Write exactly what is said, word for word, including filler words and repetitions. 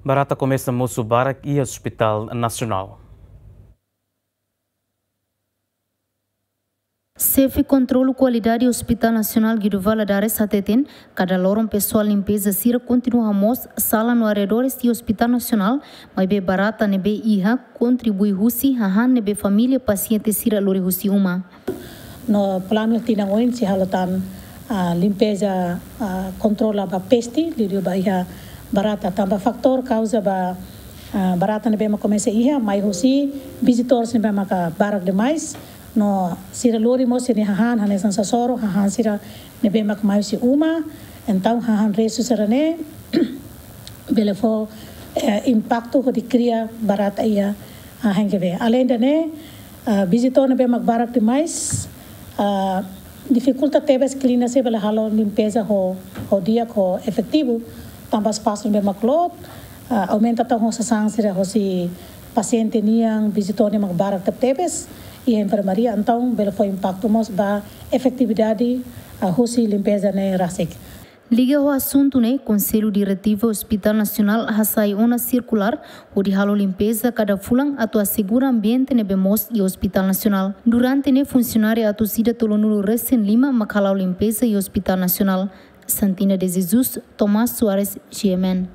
Barata komesa mosu barak iha Hospital Nasionál. Xefe Kontrolu Kualidade Hospital Nasionál Guido Valadares hateten, kada loron pesoál limpeza sira kontinua hamoos sala no arredores iha Hospital Nasionál, maibé barata ne'ebé iha kontribui husi hahán ne'ebé família pasiente sira lori husi uma. No planu tinan oin sei halo tan, ah, limpeza, ah, kontrola ba peste, liuliu ba iha barata. Tanba fatór kauza ba, ah, barata ne'ebé mak komesa iha, mai husi vizitór sira ne'ebé maka barak demais. No sira lori mós sira-nia hahán, hanesan sasoro, hahán sira ne'ebé mak mai husi uma. Entaun hahán restu sira-ne'e bele fó, eh, impaktu hodi kria barata iha, ah, H N G V. Aleinde ne'e, ah, vizitór ne'ebé mak barak demais, ah, difikulta tebes klínika sira bele halo limpeza ho, ho di'ak, ho efetivu, tanba espasu ne'ebé mak loot, ah, aumenta tan ho sasán sira hosi pasiente nian, vizitór nian mak barak tebetebes, iha enfermaria, entaun bele fó impaktu mós ba efetividade, ah, husi limpeza ne'e rasik. Liga ho asuntu ne'e, Konsellu Diretivu Hospital Nasionál hasai ona sirkulár hodi halo limpeza kada fulan atu asegura ambiente ne'ebé moos iha Hospital Nasionál. Durante ne'e funsionáriu atus ida tolunulu resin lima mak hala'o limpeza iha Hospital Nasionál. Santina de Jesus, Tomás Soares, G M N.